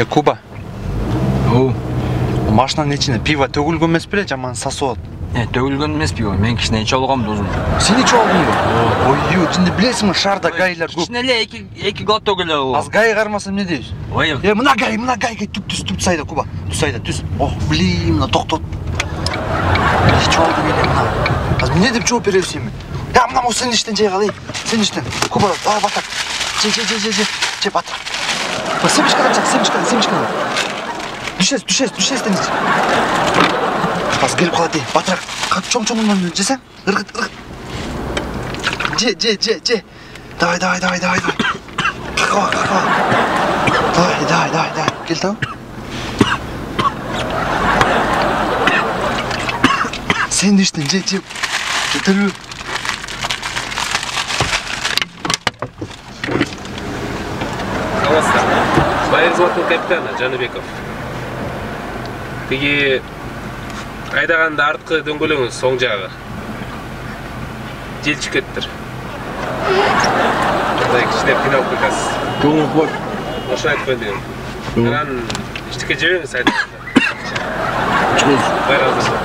Куба. Машинанын ичине пиво төгүлгөн эмес беле, жаман сасып атат. Төгүлгөн эмес пиво. Мен кичине ичип алгам дозун. Сен ичип алдыңбы? Ой, жинде билесиңби, шаарда гайлар көп. Кичине эле эки глоток эле алгам. Аз гай кармаса эмне дейбиз? Ой. Мына гай түп сайда Куба. Түп сайда түз. Ох, блин, мына токтот. Ичип алдың эле мына. Аз эмне деп жооп бересиң эми? Мына сен иштен жей кал, сен иштен. Куба, батак. Же батак. Семечкадан чак, семечкадан. Düşes deniz. Az gelip kaladı. Batrak. Kalk çom cesen. Irgıt. Ce. Давай. Kakava. Давай. Gel tamam. Sen düştün. Ce. Getir. Саламатсыздар. Байыр злотный капитаны Жаныбеков. Тиги айдаганда арткы дөңгөлөңүз соң жагы. Желчип кеттир. Мындай кичине кыйналып кетасыз. Көңүл кой. Ошо айтып элдим. Анан иштикке жебеңиз айдаганда. Байыр азыр.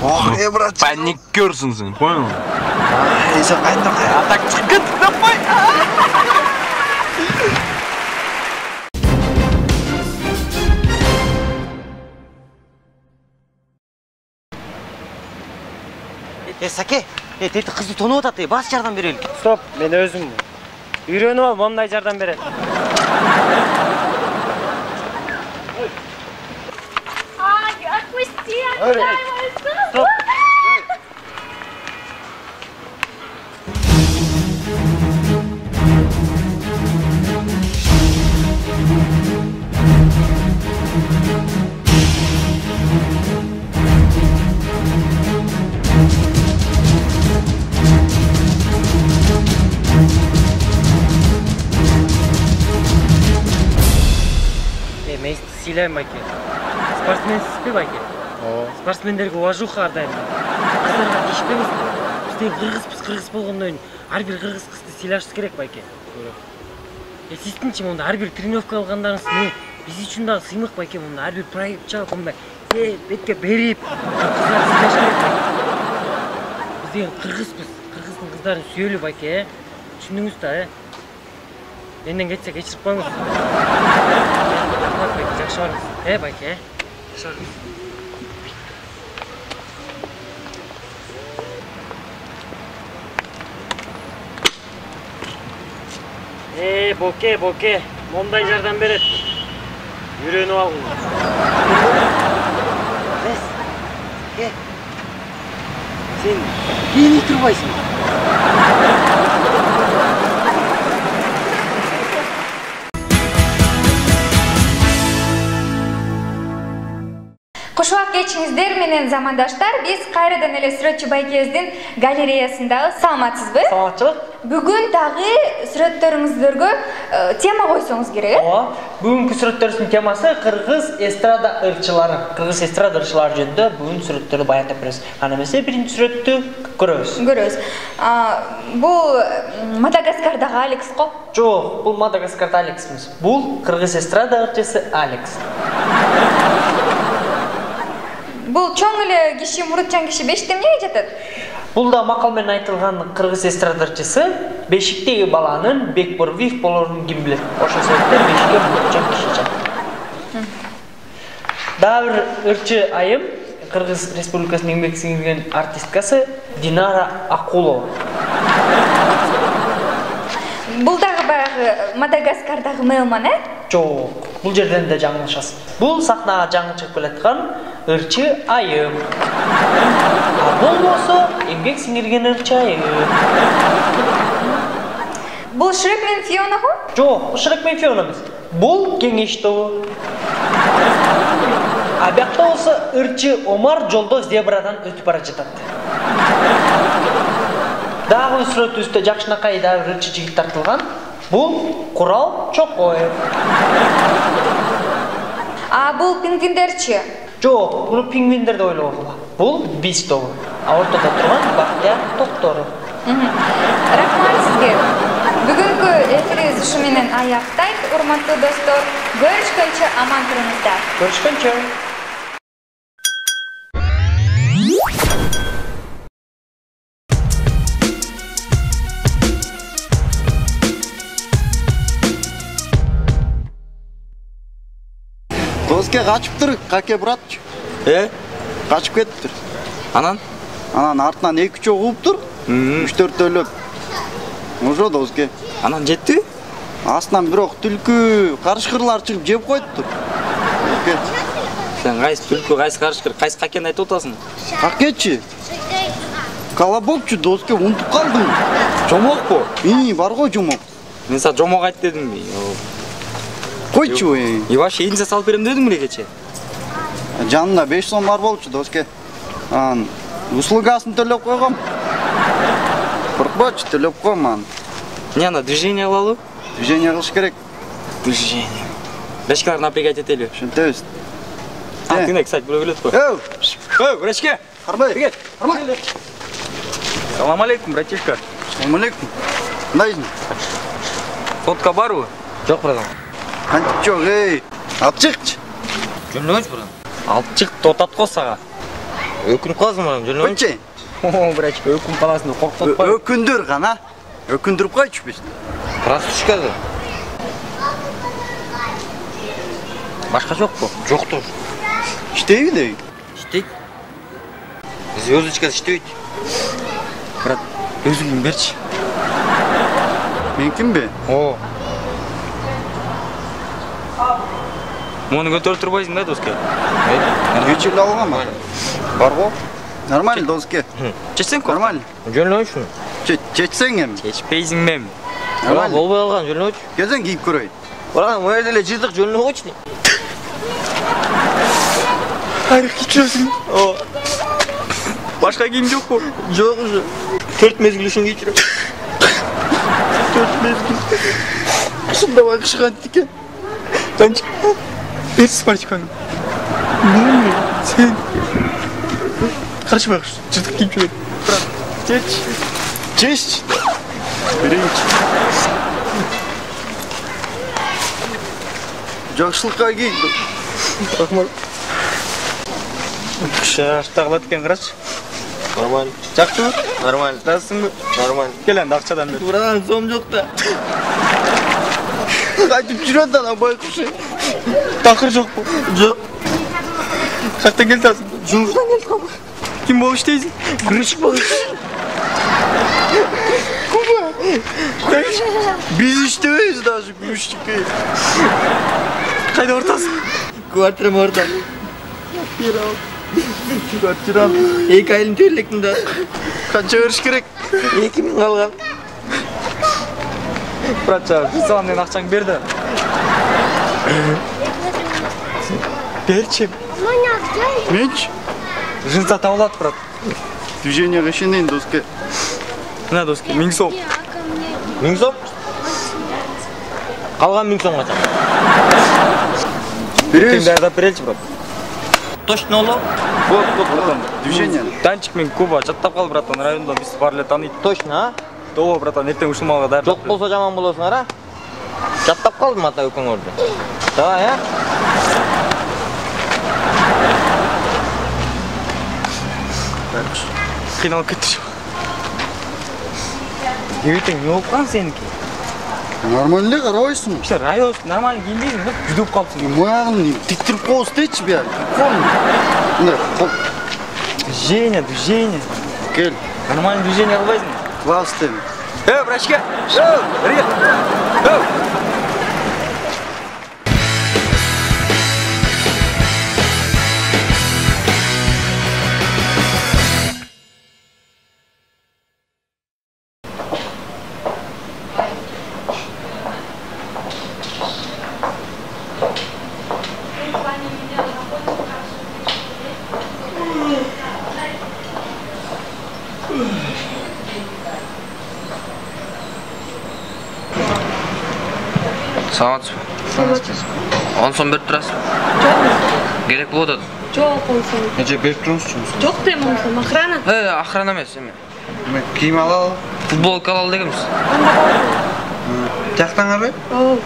Ох, брат. Паникерсың сен, понял? Сен кайда? Так чыгып кет, давай. Саке, тети кызды тонуп атат, бас жардам берели. Стоп, мен өзүм үйрөнүп алып мындай жардам берет. Стоп. Мен сыйлайм байке. Спортсменсизби байке? Спортсмендерге уважуха ар дайым. Кыздарга тиишпеңиз. Бизден кыргыз болгондон кийин ар бир кыргыз кызды сыйлашыбыз керек байке. Сиздинчи монда ар бир тренировка алгандарыңыз биз үчүн дагы сыймык байке. Монда ар бир проектча мондай бетке берип кыздарды сыйлаш керек байке. Биз деген кыргызбыз. Кыргыздын кыздарын сүйөлү байке. Түшүндүңүз да, Менден кетсе кечирип коюңуз. Жакшы барыңыз. Байке. Жакшы барыңыз. Боке. Мондай жардам берет. Үйрөнүп алгыла. Сен кийинип турбайсың. Кушуак кечиңиздер менен замандаштар, биз кайрадан эле Сүрөтчү байкебиздин галереясындагы. Саламатсызбы? Саламатчылык. Бүгүн дагы сүрөттөрүңүздөргө тема койсоңуз керек. Бүгүнкү сүрөттөрүбүздүн темасы кыргыз эстрада ырчылары. Кыргыз эстрада ырчылары жөнүндө бүгүн сүрөттөрдү баяндап беребиз. Аны эмесе биринчи сүрөттү көрөбүз. Бул Мадагаскардагы Алекс го? Жок, бул Мадагаскарда Алекс эмес. Бул кыргыз эстрада ырчысы Алекс. Бул чоң эле киши, мурутчан киши бешикте эмнеге жатат? Бул да макал менен айтылган кыргыз эстрадарчысы бешиктеги баланын бекборвив болорун ким билет. Ошол себептен бешикке мурутчан киши жатат. Дагы бир ырчы айым Кыргыз Республикасынын эмгек сиңирген артисткасы Динара Акулова. Бул дагы баягы Мадагаскардагы Мелман, Жок, бул жерден да жаңылышасыз. Бул сахнага жаңы чыгып келаткан ырчы айым. Болбосо эмгек сиңирген ырчы айым. Бул Шрек менен Фиона го? Жок, бул Шрек менен Фиона эмес. Бул Кеңеш тобу. Биякта болсо ырчы Омар жолдо зебрадан өтүп бара жатат. Дагы сүрөтүбүздө жакшынакай дагы бир ырчы жигит тартылган. Бул Курал Чокоев. Бул пингвиндерчи? Жок, бул пингвиндер деп ойлогула. Бул биз тобу. Ортодо турган Бактияр Токторов. Рахмат сизге. Бүгүнкү бүгүнкү эфирибиз ушу менен аяктайт. Урматтуу достор, көрүшкөнчө аман туруңуздар. Көрүшкөнчө. Доске качыптыр, каке братчы. Качып кетиптир. Анан? Анан артынан 2-3 угуптур. 3-4 Ошо доске. Анан жетти? Астынан бирок түлкү, карышкырлар чыгып жеп коюптур. Сен кайсы түлкү, кайсы карышкыр, кайсы какени айтып атасың? Какечи? Колобокчу доске, унутуп калдым. Жомокпу? Бар го жомок. Мен сага жомок айт дедимби? Койчу. И вообще единсе салып берем дедиң беле кече? Жанында 5 сом бар болчу доске. Анан услугасын төлөп койгом. Коркпочу, төлөп койм анан. Не ана движение кылалы? Движение кылыш керек. Движение. Врачкалар напрягать этели. Ошентебиз. Тыңдай, кстати, бирөө келет го. Врачке! Арбай. Арбай. Салам алейкум, братишка. Салам алейкум. Кандайсың? Фотка барбы? Жок, братан. Кантип жок, алып чыкчы. Жөнөбөчү, братан. Алып чык, тотат го сага. Өкүнүп каласың, братан, жөнөбөчү. Койчу. Врачка, өкүнүп каласың деп коркутпа. Өкүндүр гана. Өкүндүрүп койчу биз. Простушкада. Башка жокпу? Жоктур. Иштейби дейби? Иштейт. Звездочкада иштебейт. Брат, өзүңдүн берчи. Меникинби? Муну көтөрүп турбайсың да, доске? Кечип алганмы? Бар го. Нормально доске. Чечсең ко? Нормально. Жөнөбөчү. Чечсең эми. Чечпейсиң мем. Нормально. Болбой калган, жөнөбөчү. Келсең кийип көрөйүн. Братан, мына жерде эле жыртык жөнөбөчү. Айрык кийчүрөсүң. Башка кийим жокпу? Жок уже. 4 мезгил үчүн кийчүрөм. 4 мезгил. Ушундай кыш кантике. Танчик. Бер спартиканы. Сен карышпай кыш. Жыртык кийип жүрөт. Брат, Чеч. Берейинчи. Жакшылыкка кий. Рахмат. Шаштагылат экен, карачы. Нормально. Жактыбы? Нормально. Жазсыңбы? Нормально. Кел энди акчадан бер. Братан, сом жок да. Кайтып жүрөт ана байкуш. Такыр жокпу? Жок. Каяктан келип атасың? Жумуштан келдим. Ким болуп иштейсиң? Күрүшүк болуп. Биз иштебейбиз даже күрүшчүккө. Кайда ортасың? Квартирам орда. Квартирам 2 айын төлөктүм да. канча бериш керек? 2000 калган. Братча, салам менен акчаңды бер да. Берчи. Менчи? Жынса табылат, брат. Движенияга ишенейин доске. Мына доске, 1000 сом. 1000 сом? Калган 1000 сом качан? Беребиз. Даярдап береличи, брат. Точно оло? Вот, братан. Движение. Танчик мен Куба жаттап кал, братан. Районда биз бар эле тааныйт. Точно, а? Доо, братан, эртең ушул малга даярдап. Жок болсо жаман болосуңар, а? Жаттап калдым ата өкөңөрдү. Давай, а? Кыйналып кетти. Эбитең не болуп калган сеники? Нормально эле карабайсыңбы? Işte район нормально кийинбейсиң да, жүдөп калыпсың. Моягын тиктирип коебуз дейчи бияк. Мындай Движение, движение. кел. Нормально движение кылбайсың. Класс дейм. Врачка. Бери кел. Саламатсызбы? 10 сом берип турасыз? Керек болуп атат. Жок, онсун. Нече берип турмузчу? Жок дейм онсун, охрана. Охрана эмес эми. Кийим алалы. Футболка алалы дегенбиз. Анда болсун. Жактаңарбы? Ооба.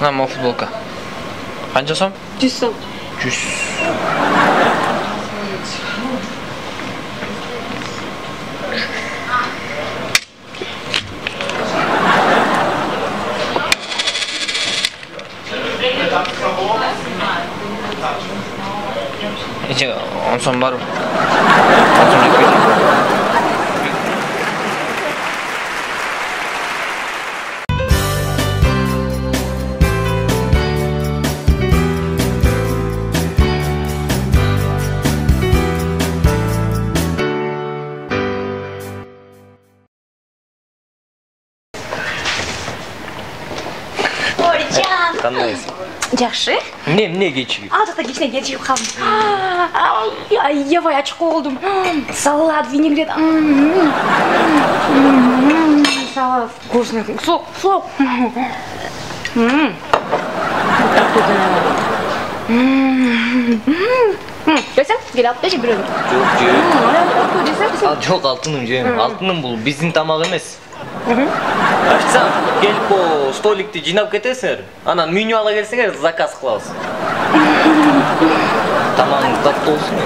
Мына могу футболка. Канча сом? 100 сом. 100. Нече 10 сом барбы? 10 сом жетпейт. Оржан. Кандайсың? Жакшы. Эмне кечигип? Ал жакта кичине кечигип калдым. Аябай ачык болдум. Салат, винегрет. Салат вкусный. Сок. Görsen, gel atla şey biriyorum. Жок, алтыным жейм. Алтыным бул биздин тамак эмес. Ачсам, келип по столикти жыйнап кетесиңер. Анан меню ала келсеңер, заказ кылабыз. Тамагың таттуу болсун.